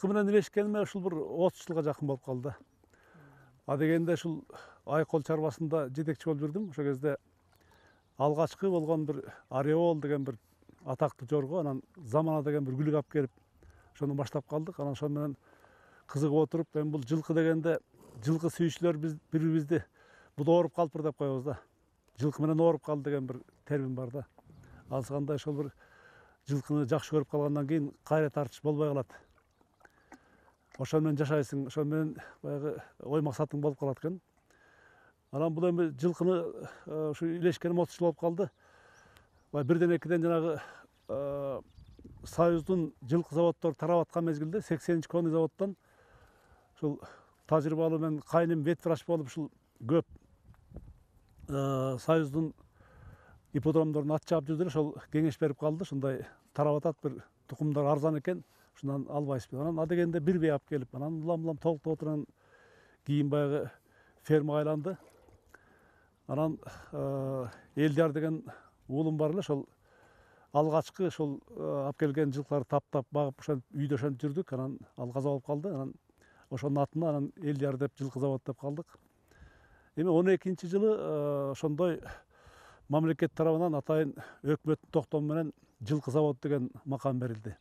жылкы менен илешкениме ушул бир 30 жылга жакын болуп калды. А дегенде ушул Айкол чарбасында жетекчи болуп жүрдүм. Ошол кезде алгачкы болгон бир Ореол деген бир атактуу жорго, анан Замана деген бир күлүк алып келип, ошону баштап калдык. Анан ошол менен кызыгып отуруп, эми бул жылкы дегенде жылкы сүйүүчүлөр биз бири-бирибизди бул ооруп калыптыр деп коебуз да. Жылкы менен ооруп калды деген бир термин бар да. Азгандай ошол бир жылкыны жакшы көрүп калгандан кийин кайра тартыш болбой калат. Ошол менен жашайсың, ошол менен баягы ой максатың болуп калат экен. Анан бул эми жылкыны ушу илешкеним 30 жыл болуп калды. Бирден экиден жанагы Союздун жылкы заводдору тарап аткан мезгилде 80-чи конный заводдон ушул тажрыйбалуу мен кайным ветврач болуп ушул көп Союздун ипподромдорун ат чаап жүрдүлөр. Ошол кеңеш берип калды. Ушундай тарап атат, бир тукумдар арзан экен, ушундан албайсызбы. Анан адегенде бир бей алып келип, анан улам толуктоп отурган кийин баягы фермага айланды. Анан Элдияр деген уулум бар эле, ошол алгачкы ошол алып келген жылкыларды таптап багып, ошентип үйдө ошентип жүрдүк. Анан ал каза болуп калды. Анан ошонун атына анан Элдияр деп жылкы завод деп калдык. Эми 12-чи жылы ошондой мамлекет тарабынан атайын өкмөттүн токтому менен жылкы завод деген макам берилди.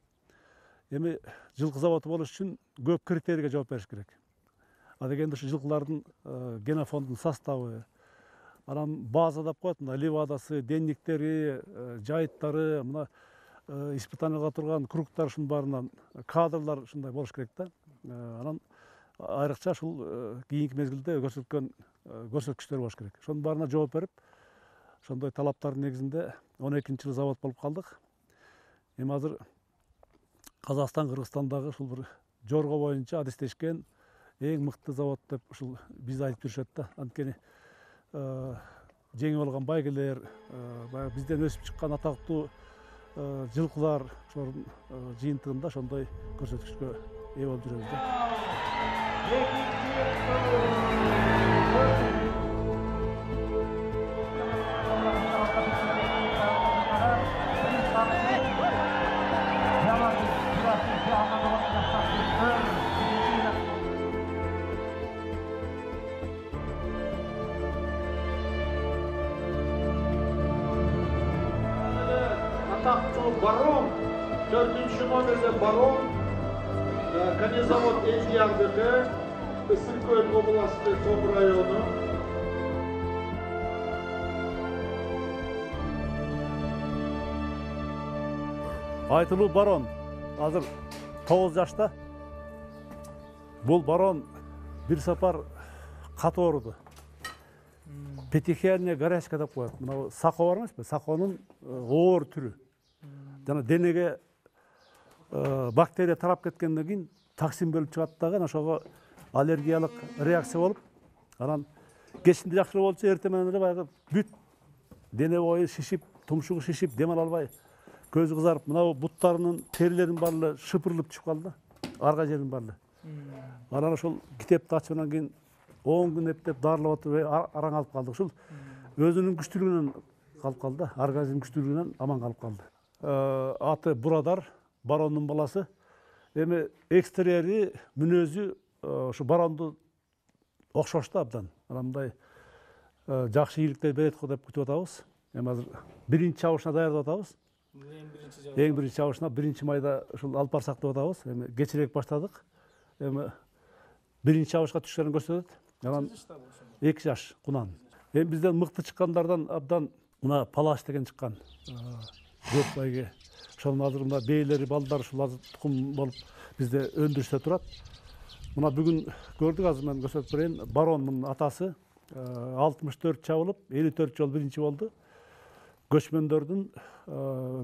Эми жылкы заводу болуш үчүн көп критерийге жооп бериш керек. А дегенде ушу жылкылардын генофондунун составы, анан база деп коет, мына левадасы, денниктери, жайыттары, мына испытанияларга турган кругтар, ушунун баарынан кадрлар ушундай болуш керек да. Анан айрыкча ушул кийинки мезгилде көрсөткөн көрсөткүчтөр болуш керек. Ошонун баарына жооп берип, ошондой талаптардын негизинде 12-чи жылы завод болуп калдык. Эми азыр Казакстан, Кыргызстандагы ушул бир жорго боюнча адистешкен эң мыкты завод деп ушул бизди айтып жүрүшөт да. Анткени жеңип алган байгелер, баягы бизден өсүп чыккан атактуу жылкылар ошонун жыйынтыгында ошондой көрсөткүчкө ээ болуп жүрөбүз да. Атактуу барон, 4-чү номерде барон, конезавод Элдиярдыкы, Ысык-Көл областы, Том району. Айтылуу барон азыр 9 жашта. Бул барон бир сапар катуу ооруду. Петихиальная горячка деп коет. Мына сако бар эмеспи? Саконун оор түрү. Жана денеге бактерия тарап кеткенден кийин токсин бөлүп чыгат дагы, ошого аллергиялык реакция болуп, анан кечинде жакшыроо болчу, эртең менен эле баягы бүт дене бою шишип, тумшугу шишип, дем ала албай, көзү кызарып, мына буттарынын терилеринин баары эле шыпырылып чыгып калды, арга жеринин баары эле. Анан ошол китепти ачкандан кийин 10 күн эптеп дарылап отуруп араң алып калдык. Ушул өзүнүн күчтүүлүгүнөн калып калды, организм күчтүүлүгүнөн аман калып калды. Аты Бурадар, барондун баласы. Эми экстерьери, мүнөзү ушу баронду окшош да абдан. Анан мындай жакшы ийгиликтер берет го деп күтүп атабыз. Эми азыр биринчи чабышына даярдап атабыз. Эң биринчи чабышына 1 майда ушул алып барсак деп атабыз. Эми кечирээк баштадык. Эми биринчи чабышка түшкөнүн көрсөтөт. Анан 2 жаш кунан. Эми бизден мыкты чыккандардан абдан мына Палаш деген чыккан. Көп байге. Ошонун азыр мына бейлери, балдары ушул азыр тукум болуп бизде өндүрүштө турат. Мына бүгүн көрдүк, азыр мен көрсөтүп берейин. Баронун атасы 64 чабылып, 54 жолу биринчи болду. Көчмөндөрдүн,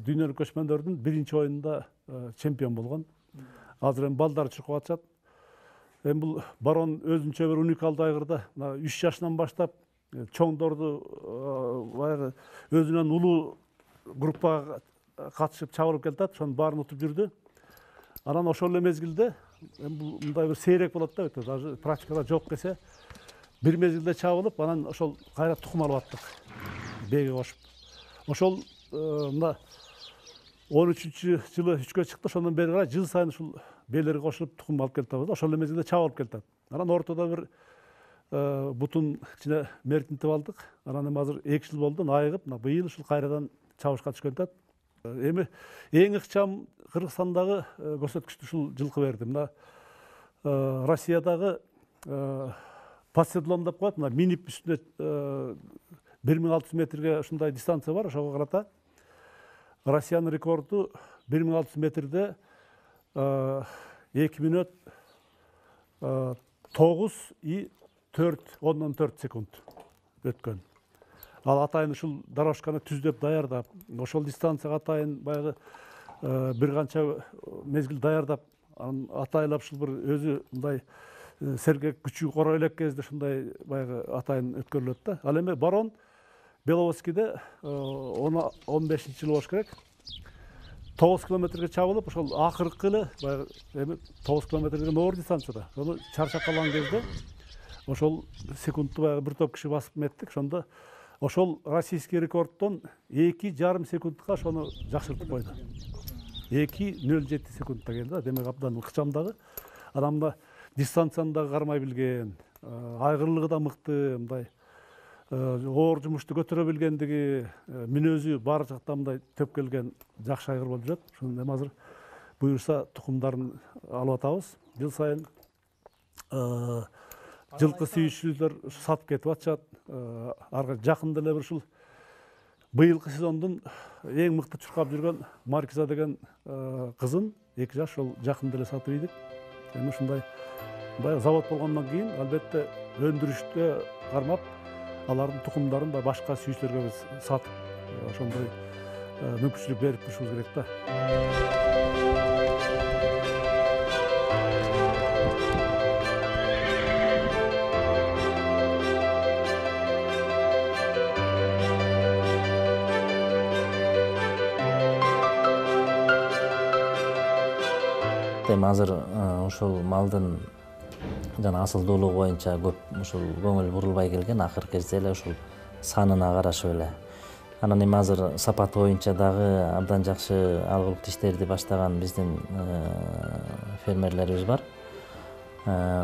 дүйнөлүк көчмөндөрдүн биринчи оюнунда чемпион болгон. Азыр эми балдары чуркап атышат. Эми бул барон өзүнчө бир уникалдуу айгырда 3 жашынан баштап чоңдорду баягы өзүнөн улуу группага катышып чабылып келатат, ошонун баарын утуп жүрдү. Анан ошол эле мезгилде бул мындай бир сейрек болот да, өтө даже практикада жок десе, бир мезгилде чабылып, анан ошол кайра тукум алып аттык бээге кошуп. Ошол мына 13-жылы 3кө чыкты, ошондон бери карай жыл сайын ушул белери кошулуп тукум алып келип атабыз. Ошол эле мезгилде чабылып келип атат. Анан ортодо бир бутун кичине мертинтип алдык. Анан эми азыр 2 жыл болду, айыгып, мына быйыл ушул кайрадан чабышка түшкөн атат. Эми эң ыкчам Кыргызстандагы көрсөткүчтү ушул жылкы берди. Мына Россиядагы подседлом деп коет, мына минип үстүнө 1600 метрге ушундай дистанция бар. Ошого карата Россиянын рекорду 1600 метрде 2 мүнөт 9,4 секунд өткөн. Ал атайын ушул дорожканы түздөп даярдап, ошол дистанцияга атайын баягы бир канча мезгил даярдап, анан атайлап ушул бир өзү мындай сергек күчү кора элек кезде ушундай баягы атайын өткөрүлөт да. Ал эми Барон Беловодскийде 15-жыл болуш керек. 9 километрге чабылып, ошол акыркы эле баягы эми 9 километр деген оор дистанцияда. Ошону чарчап калган кезде ошол секундту баягы бир топ киши басып меттик. Ошондо ошол российский рекордтон 2,5 секундка ошону жакшыртып койду. 2,07 секундта келди. Демек абдан ыкчам. Анан мына дистанцияны да кармай билген, айгырлыгы да мыкты, мындай оор жумушту көтөрө билгендиги, мүнөзү баары жактан мындай төп келген жакшы айгыр болуп жүрөт. Ошону эми азыр буюрса тукумдарын алып атабыз. Жыл сайын жылкы сүйүүчүлөр сатып кетип атышат. Жакында эле бир ушул быйылкы сезондун эң мыкты чуркап жүргөн Маркиза деген кызын 2 жаш ошол жакында эле сатып ийдик. Эми ушундай баягы завод болгондон кийин албетте өндүрүштө кармап, алардын тукумдарын башка сүйүүчүлөргө биз сатып, ошондой мүмкүнчүлүк берип турушубуз керек да. Эми азыр ушул малдын жана асылдуулугу боюнча көп ушул көңүл бурулбай келген, акыркы кезде эле ушул санына карашып эле. Анан эми азыр сапаты боюнча дагы абдан жакшы алгылык иштерди баштаган биздин фермерлерибиз бар.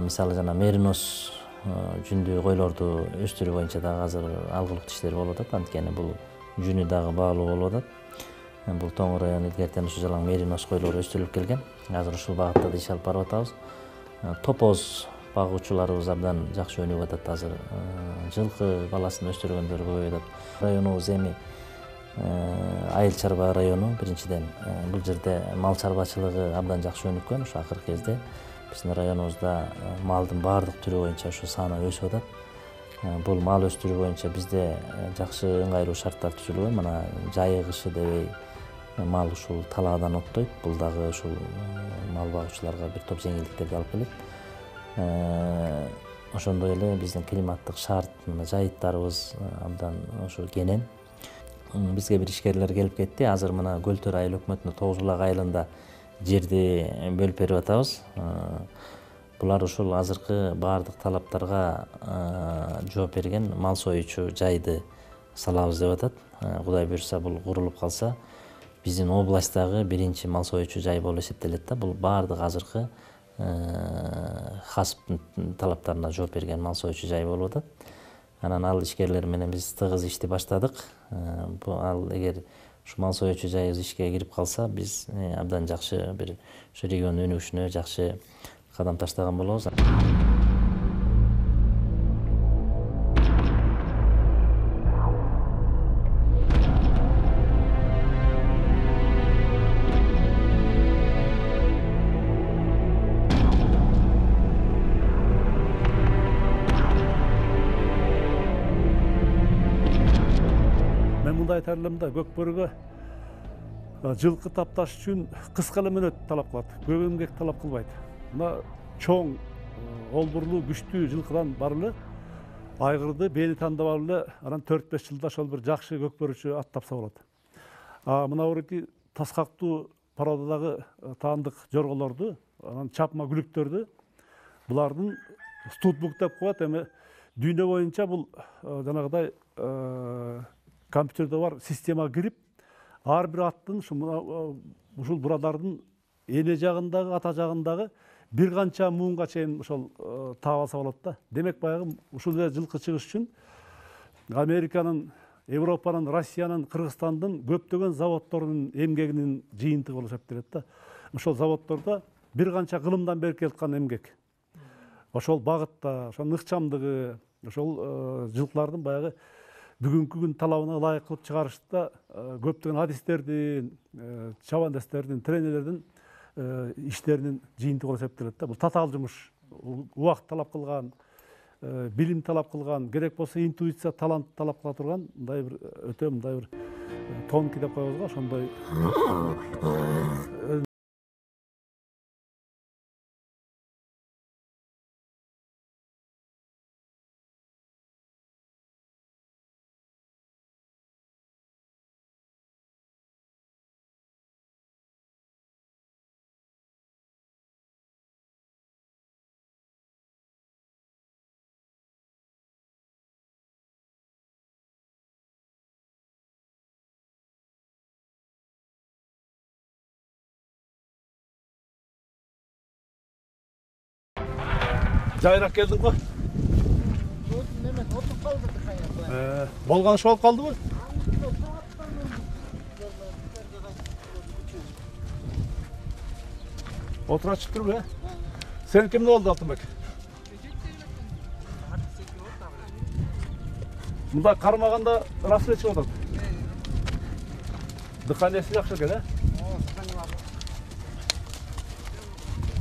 Мисалы жана меринос жүндүү койлорду өстүрүү боюнча дагы азыр алгылык иштер болуп атат. Анткени бул жүнү дагы баалуу болуп атат. Бул Тоң району илгертен ушу жалаң меринос койлору өстүрүлүп келген. Азыр ушул багытта да иш алып барып атабыз. Топоз багуучуларыбыз абдан жакшы өнүгүп атат азыр. Жылкы баласын өстүргөндөр көбөйүп атат. Районубуз эми айыл чарба району биринчиден. Бул жерде мал чарбачылыгы абдан жакшы өнүккөн. Ушу акыркы кезде биздин районубузда малдын баардык түрү боюнча ушу саны өсүп атат. Бул мал өстүрүү боюнча бизде жакшы ыңгайлуу шарттар түзүлгөн. Мына жайы кышы дебей мал ушул талаадан оттойт. Бул дагы ушул мал багуучуларга бир топ жеңилдиктерди алып келет. Ошондой эле биздин климаттык шарт, мына жайыттарыбыз абдан ошо кенен. Бизге бир ишкерлер келип кетти. Азыр мына Көлтөр айыл өкмөтүнүн Тогуз булак айылында жерди бөлүп берип атабыз. Булар ушул азыркы баардык талаптарга жооп берген мал союучу жайды салабыз деп атат. Кудай буйрса бул курулуп калса, биздин областтагы биринчи мал союучу жай болуп эсептелет да. Бул баардык азыркы хасптын талаптарына жооп берген мал союучу жай болуп атат. Анан ал ишкерлер менен биз тыгыз ишти баштадык. Ал эгер ушу мал союучу жайыбыз ишке кирип калса, биз абдан жакшы бир ушу региондун өнүгүшүнө жакшы кадам таштаган болобуз. Мен мындай айтар элем да, көкбөрүгө жылкы тапташ үчүн кыска эле мөөнөт талап кылат, көп эмгек талап кылбайт. Мына чоң, олбурлуу, күчтүү жылкыдан бар эле айгырды бени тандап алып эле, анан 4-5 жылда ошол бир жакшы көкбөрүчү ат тапса болот. Мына урути таскактуу породадагы таандык жорголорду, анан чапма күлүктөрдү, булардын стутбук деп коет. Эми дүйнө боюнча бул жанагыдай компьютерде бар система кирип, ар бир аттын ушул бурадардын эне жагындагы, ата жагындагы бир канча муунга чейин ошол таап алса болот да. Демек баягы ушул эле жылкы чыгыш үчүн Американын, Европанын, Россиянын, Кыргызстандын көптөгөн заводдорунун эмгегинин жыйынтыгы болуп эсептелет да. Ошол заводдордо бир канча кылымдан бери келаткан эмгек. Ошол багытта, ошонун ыкчамдыгы, ошол жылкылардын баягы бүгүнкү күн талабына ылайык кылып чыгарышта көптөгөн адистердин, чабандестердин, тренерлердин иштеринин жыйынтыгы болуп эсептелет да. Бул татаал жумуш, убакыт талап кылган, билим талап кылган, керек болсо интуиция, талант талап кыла турган мындай бир өтө мындай бир тонкий деп коебуз го, ошондой жайрак келдиң го. Болгон иш болуп калдыбы? Отура чыгып туруп, Сен кимде болду, Алтынбек? Мында кармаганда рассвет чыгып атат. Дыханиясы жакшы экен,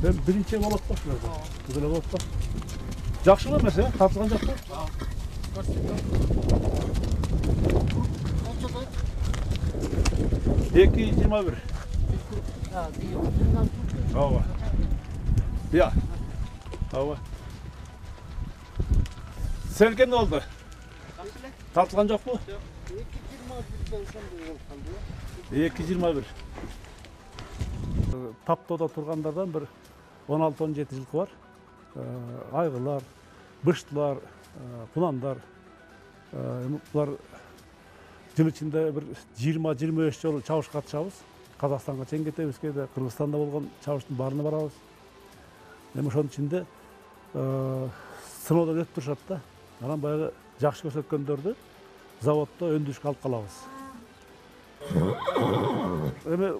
Мен биринчи болот го ушул. Бул эле болот го. Жакшыбы эмес, тартылган жакпы? 2.21. Ооба. Я. Ооба. Сен кемде болду? Тартылган жокпу? 2.21. Таптоодо тургандардан бир 16-17 жылкы бар. Айгылар, быштылар, кунандар. Булар жыл ичинде бир 20-25 жолу чабышка катышабыз. Казакстанга чейин кетебиз, кээде Кыргызстанда болгон чабыштын баарына барабыз. Эми ошонун ичинде сыноодон өтүп турушат да. Анан баягы жакшы көрсөткөндөрдү заводдо өндүрүшкө алып калабыз. Эми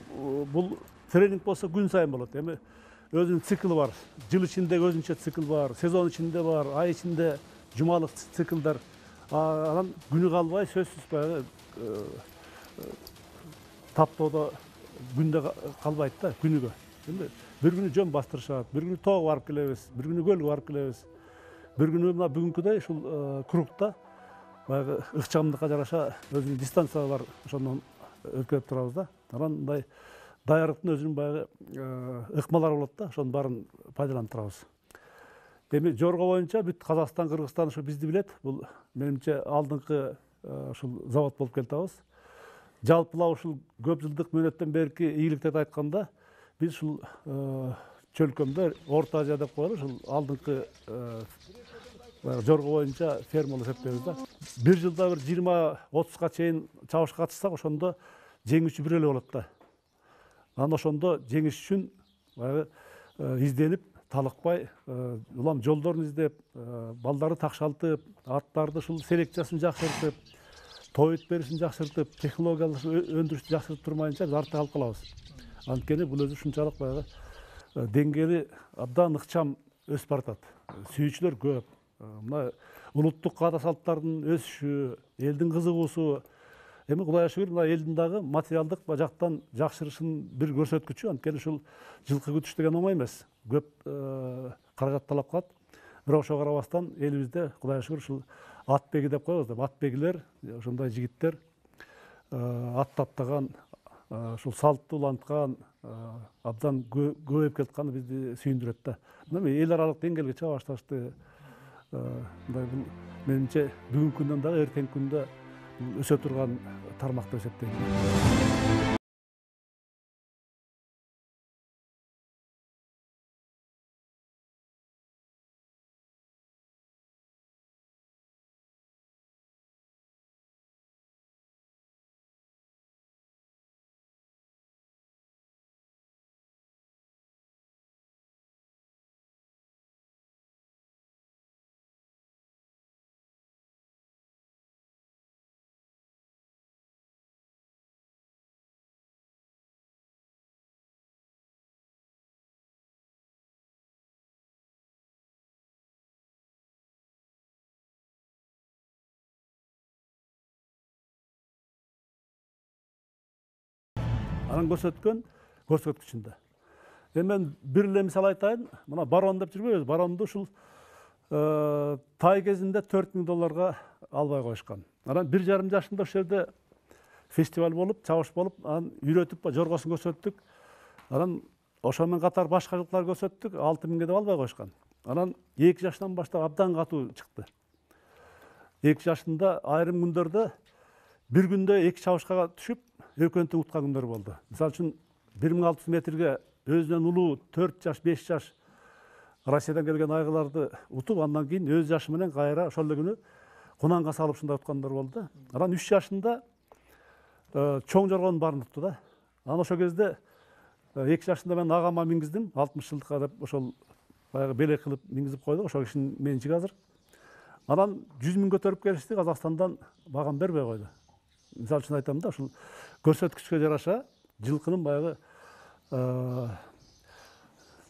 бул тренинг болсо күн сайын болот. Эми өзүнүн циклы бар. Жыл ичинде өзүнчө цикл бар, сезон ичинде бар, ай ичинде жумалык циклдар. Анан күнү калбай сөзсүз баягы таптоодо күндө калбайт да, күнүгө. Эми бир күнү жөн бастырышат, бир күнү тоого барып келебиз, бир күнү көлгө барып келебиз. Бир күнү мына бүгүнкүдөй ушул кругта баягы ыкчамдыкка жараша өзүнүн дистанциялар ошондон өткөрүп турабыз да. Анан мындай даярдыктын өзүнүн баягы ыкмалары болот да, ошонун баарын пайдаланып турабыз. Эми жорго боюнча бүт Казакстан, Кыргызстан ушу бизди билет. Бул менимче алдыңкы ушул завод болуп келатабыз. Жалпылап ушул көп жылдык мөөнөттөн берки ийгиликтерди айтканда, биз ушул чөлкөмдө Орто Азия деп коелу, ушул алдыңкы жорго боюнча ферма болуп эсептейбиз да. Бир жылда бир 20-30га чейин чабышка катышсак, ошондо жеңүүчү бир эле болот да. Анан ошондо жеңиш үчүн баягы изденип, талыкпай, улам жолдорун издеп, балдарды такшалтып, аттарды ушул селекциясын жакшыртып, тоют беришин жакшыртып, технологиялык өндүрүштү жакшыртып турмайынча биз артта калып калабыз. Анткени бул өзү ушунчалык баягы деңгээли абдан ыкчам өсүп баратат. Сүйүүчүлөр көп. Мына улуттук каада салттардын өсүшү, элдин кызыгуусу, эми Кудайга шүгүр, мына элдин дагы материалдык жактан жакшырышын бир көрсөткүчү. Анткени ушул жылкы күтүш деген оңой эмес. Көп каражат талап кылат. Бирок ошого карабастан элибизде Кудайга шүгүр ушул атбеги деп коебуз да, атбегилер, ошондой жигиттер ат таптаган, ушул салтты уланткан, абдан көбөйүп келатканы бизди сүйүндүрөт да. Мына эл аралык деңгээлге чыга башташты. Мындай бул менимче бүгүнкү күндөн дагы эртеңки күндө өсө турган тармак деп эсептейм. анан көрсөткөн көрсөткүчүндө. Эми мен бир эле мисал айтайын. Мына барон деп жүрбөйбүз. Баронду ушул тай кезинде $4000 албай коюшкан. Анан 1,5 жашында ошол жерде фестиваль болуп, чабыш болуп, анан үйрөтүп жоргосун көрсөттүк. Анан ошо менен катар башка жылкылар көрсөттүк, 6000 деп албай коюшкан. Анан 2 жаштан баштап абдан катуу чыкты. 2 жашында айрым күндөрдө бир күндө 2 чабышка түшүп, экөөнтү уткан күндөр болду. Мисалы үчүн 1600 метрге өзүнөн улуу 4 жаш, 5 жаш Россиядан келген айгыларды утуп, андан кийин өз жашы менен кайра ошол эле күнү кунанга салып ушундай уткандар болду. Анан 3 жашында чоң жоргонун баарын утту да. Анан ошол кезде 2 жашында мен агама мингиздим, 60 жылдыкка деп ошол баягы белек кылып мингизип койдук, ошол кишинин менчиги азыр. Анан 100 000 көтөрүп келишти, Казакстандан багам бербей койду. Мисалы үчүн айтам да, ушул көрсөткүчкө жараша, жылкынын баягы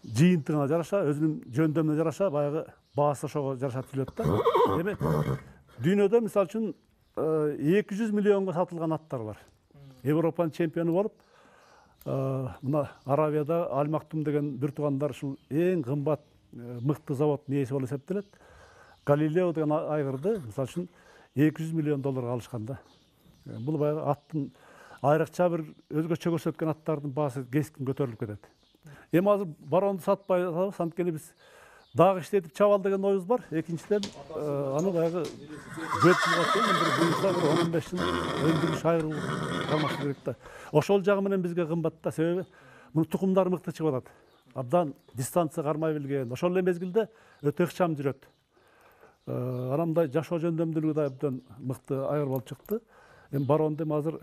жыйынтыгына жараша, өзүнүн жөндөмүнө жараша баягы баасы ошого жараша түзүлөт да. Эми дүйнөдө мисалы үчүн 200 миллионго сатылган аттар бар. Европанын чемпиону болуп, мына Аравияда Аль Мактум деген бир туугандар ушул эң кымбат мыкты заводдун ээси болуп эсептелет. Галилео деген айгырды мисалы үчүн $200 миллион алышкан да. Бул баягы аттын айрыкча бир өзгөчө көрсөткөн аттардын баасы кескин көтөрүлүп кетет. Эми азыр баронду сатпай атабыз, анткени биз дагы иштетип чабал деген оюбуз бар. Экинчиден аны баягы көп жылга чейин бир 15 жыл өндүрүш айыруу калмаш керек да. Ошол жагы менен бизге кымбат да, себеби мунун тукумдары мыкты чыгып атат. Абдан дистанция кармай билген, ошол эле мезгилде өтө ыкчам жүрөт. Анан мындай жашоо жөндөмдүүлүгү да абдан мыкты айыр болуп чыкты. Эми баронду азыр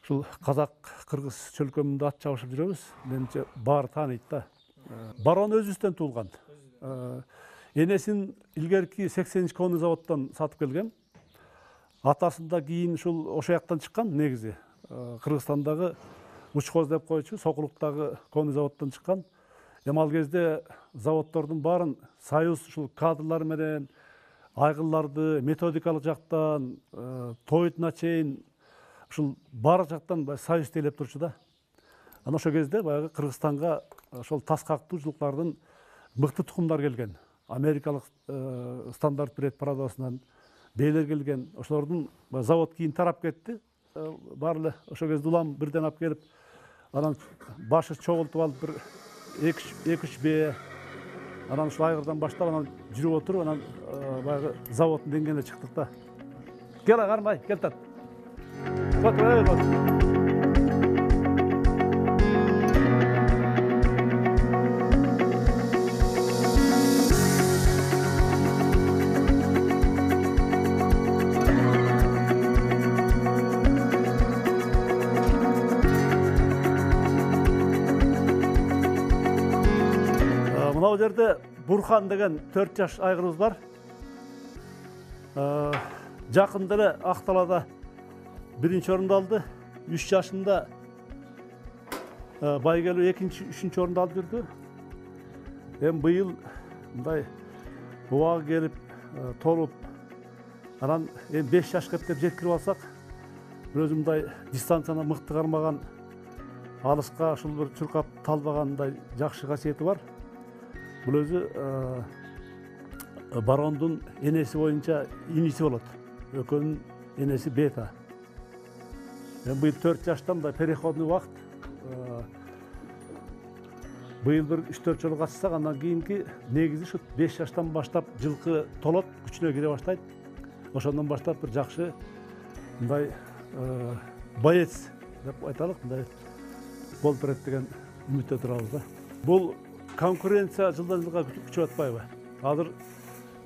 ушул казак-кыргыз чөлкөмүндө ат чабышып жүрөбүз. Менимче баары тааныйт да. Барон өзүбүздөн туулган. Энесин илгерки 80 конный заводдон сатып келген. Атасында кийин ушул ошол жактан чыккан негизи. Кыргызстандагы Учкоз деп койчу, Сокулуктагы конный заводдон чыккан. Эми ал кезде заводдордун баарын союз ушул кадрлар менен айгылларды методикалык жактан, тойтуна чейин ушул баары жактан союз тейлеп турчу да. Анан ошол кезде баягы Кыргызстанга ошол тас кактуу жылкылардын мыкты тукумдар келген. Америкалык стандарт бред парадосунан бээлер келген. Ошолордун завод кийин тарап кетти. Баары эле ошол кезде улам бирден алып келип, анан башы чогултуп алып бир 2-3 бээ, анан ушул айгырдан баштап анан жүрүп отуруп, анан баягы заводдун деңгээлине чыктык да. Кел кармай, кел тат. Мына жерде Бурхан деген 4 жаш айгырыбыз бар. Жакында эле Акталада 1-нчи орунду алды. 3 жашында байгелүү 2-3-нчү орунду алып жүрдү. Эми быйыл мындай убагы келип, толуп, анан эми 5 жашка деп жеткирип алсак, бир өзү мындай дистанцияны мыкты кармаган, алыска ушул бир чуркап талбаган мындай жакшы касиети бар. Бул өзү барондун энеси боюнча иниси болот. Экөөнүн энеси бета. Эми быйыл 4 жашта мындай переходный убакыт. Быйыл бир 3-4 жолу катышсак, андан кийинки негизи ушу 5 жаштан баштап жылкы толот, күчүнө кире баштайт. Ошондон баштап бир жакшы мындай боец деп айталык, мындай болуп берет деген үмүттө турабыз да. Бул конкуренция жылдан жылга күчөп атпайбы? Азыр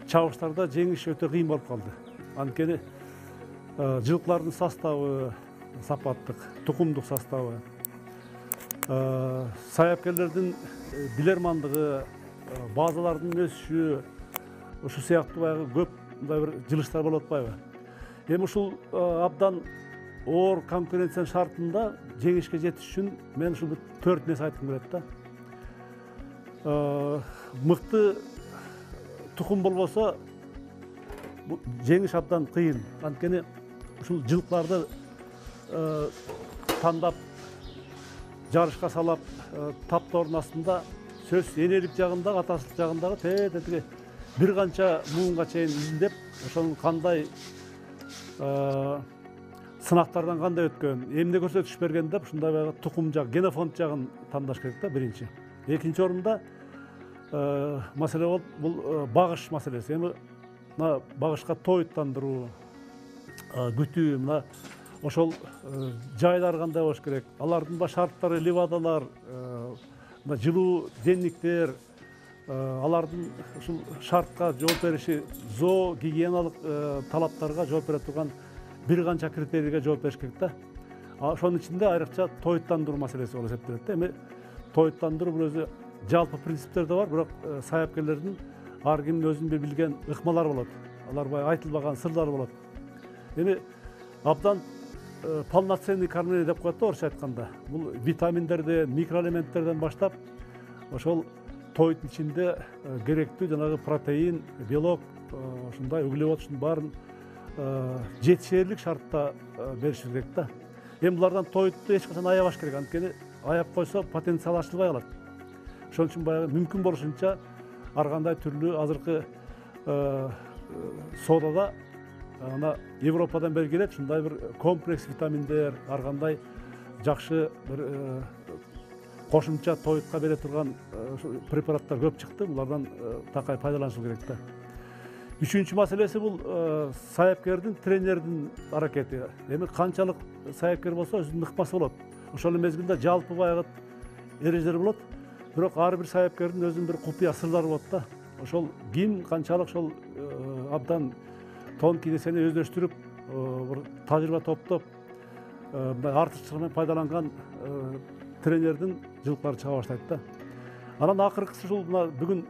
чабыштарда жеңиш өтө кыйын болуп калды. Анткени жылкылардын составы сапаттык, тукумдук составы, саяпкерлердин билермандыгы, базалардын өсүшү, ушу сыяктуу баягы көп мындай бир жылыштар болуп атпайбы? Эми ушул абдан оор конкуренциянын шартында жеңишке жетиш үчүн мен ушул 4 нерсе айткым келет да. Мыкты тукум болбосо жеңиш абдан кыйын. Анткени ушул жылкыларды тандап жарышка салап таптордун астында сөз энелик жагындагы атасылык жагындагы тетиги бир канча муунга чейин изилдеп ошонун кандай сынактардан кандай өткөн, эмне көрсөтүш берген деп ушундай баягы тукум жак, генофонд жагын тандаш керек да биринчи. Экинчи орунда маселе болуп бул багыш маселеси. Эми мына багышка тоюттандыруу, күтүү, мына ошол жайлар кандай болуш керек, алардын шарттары, ливадалар, мына жылуу денниктер, алардын ушул шартка жооп бериши, зоо гигиеналык талаптарга жооп бере турган бир канча критерийге жооп бериш керек да. Ошонун ичинде айрыкча тоюттандыруу маселеси болуп эсептелет да. Эми тоюттандыруу бул өзү жалпы принциптер да бар, бирок саяпкерлердин ар кимдин өзүнүн бир билген ыкмалары болот. Алар баягы айтылбаган сырлары болот. Эми абдан полноценный кормление деп коет да орусча айтканда. Бул витаминдерден, микроэлементтерден баштап ошол тоюттун ичинде керектүү жанагы протеин, белок, ушундай углевод ушунун баарын жетишээрлик шартта беришибиз керек да. Эми булардан тоютту эч качан аябаш керек, анткени аяп койсо потенциал ачылбай калат. Ошон үчүн баягы мүмкүн болушунча ар кандай түрлүү азыркы содада ана Европадан бери келет ушундай бир комплекс витаминдер, ар кандай жакшы бир кошумча тоютка бере турган препараттар көп чыкты. Булардан такай пайдаланышыбыз керек да. Үчүнчү маселеси бул саяпкердин, тренердин аракети. Эми канчалык саяпкер болсо өзүнүн ыкмасы болот. Ошол мезгилде жалпы баягы эрежелер болот. Бирок ар бир саяпкердин өзүнүн бир купуя сырлары болот да. Ошол ким канчалык ошол абдан тонкий нерсени өздөштүрүп, бир тажрыйба топтоп, артыкчылык менен пайдаланган тренердин жылкылары чыга баштайт да. Анан акыркысы ушул мына бүгүн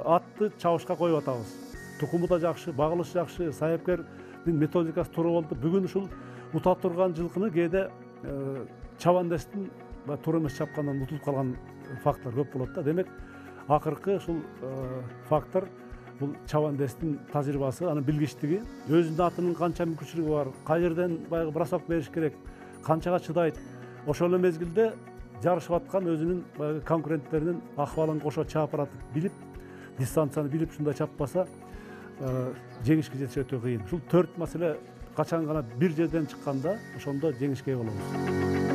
атты чабышка коюп атабыз. Тукуму да жакшы, багылышы жакшы, саяпкердин методикасы туура болду. Бүгүн ушул ута турган жылкыны кээде чабандестин туура эмес чапкандан утулуп калган факттар көп болот да. Демек, акыркы ушул фактор бул чабандестин тажрыйбасы, анын билгичтиги, өзүнүн атынын канча мүмкүнчүлүгү бар, кай жерден баягы бросок бериш керек, канчага чыдайт. Ошол эле мезгилде жарышып аткан өзүнүн баягы конкуренттеринин акыбалын кошо чаап баратып билип, дистанцияны билип ушундай чаппаса, жеңишке жетиш өтө кыйын. Ушул 4 маселе качан гана бир жерден чыкканда, ошондо жеңишке ээ болобуз.